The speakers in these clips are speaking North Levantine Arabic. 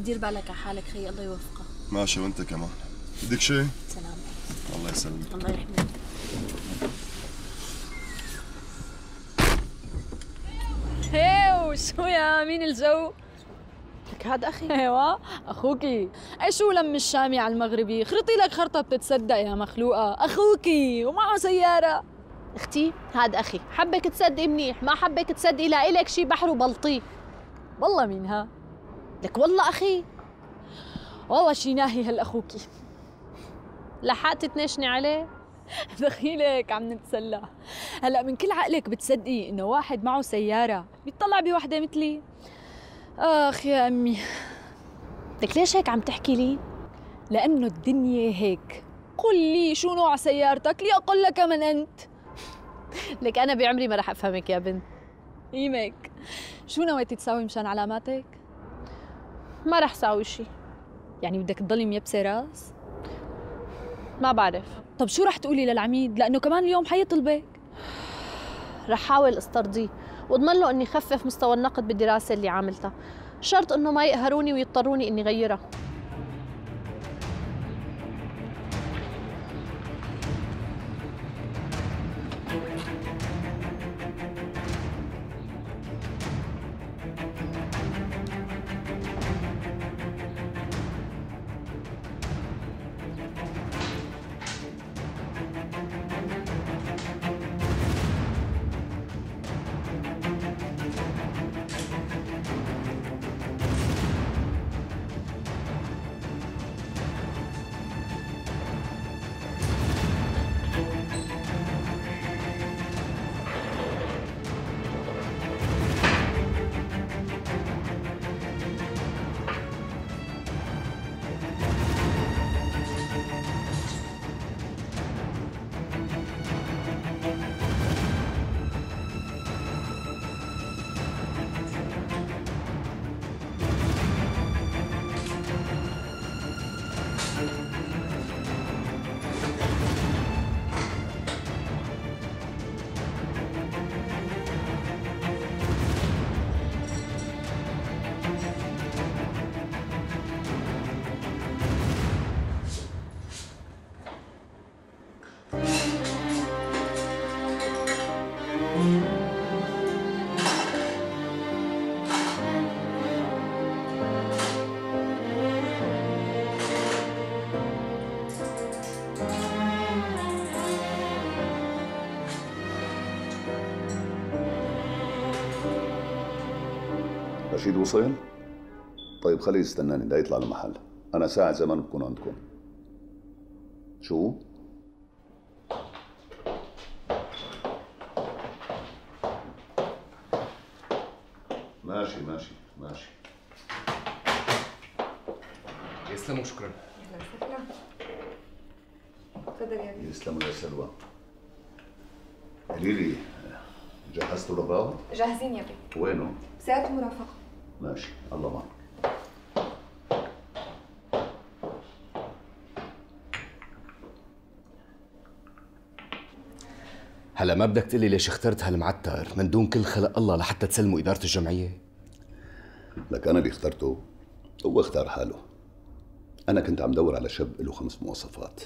دير بالك على حالك خيي، الله يوفقك. ماشي وانت كمان. بدك شيء؟ سلام. الله يسلمك. الله يحميك. هيو شو يا مين الجو؟ لك هاد اخي. ايوه اخوكي. اي شو لم الشامي على المغربي، خرطي لك خرطه بتتصدق يا مخلوقه، اخوكي ومعه سياره. اختي هاد اخي، حبك تصدقي منيح، ما حبك تصدقي لا إلك شي بحر وبلطيه. والله مينها؟ لك والله اخي. والله شي ناهي هالاخوكي. لحقتي تنشني عليه؟ دخيلك عم نتسلى. هلا من كل عقلك بتصدقي انه واحد معه سياره بيطلع بوحده مثلي؟ اخ يا امي. لك ليش هيك عم تحكي لي؟ لانه الدنيا هيك. قل لي شو نوع سيارتك لأقل لك من انت. لك انا بعمري ما رح افهمك يا بنت. يمك شو نويتي تساوي مشان علاماتك؟ ما رح ساوي شي. يعني بدك تضلي ميبسه راس؟ ما بعرف. طب شو رح تقولي للعميد لانه كمان اليوم حيطلبك؟ رح حاول استرضيه واضمن له اني خفف مستوى النقد بالدراسه اللي عاملتها، شرط انه ما يقهروني ويضطروني اني غيرها. رشيد وصل؟ طيب خليه يستناني، لا يطلع المحل، أنا ساعة زمان بكون عندكم. شو؟ ماشي ماشي ماشي. يسلموا شكرا. اهلا وسهلا. تفضل يا بيه. يسلموا يا سلوى. قولي لي جهزتوا الرباط؟ جاهزين يا بيه. وينه؟ بسيارة المرافقة. ماشي، الله معك. هلا ما بدك تقلي ليش اخترت هالمعتر من دون كل خلق الله لحتى تسلموا إدارة الجمعية؟ لك أنا اللي اخترته، هو اختار حاله. أنا كنت عم دور على شاب له 5 مواصفات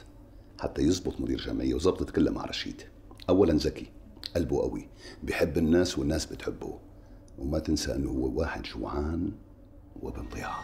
حتى يزبط مدير جمعية، وزبطت كلها مع رشيد. أولاً ذكي، قلبه قوي، بيحب الناس والناس بتحبه، وما تنسى أنه هو واحد جوعان وابن ضياع.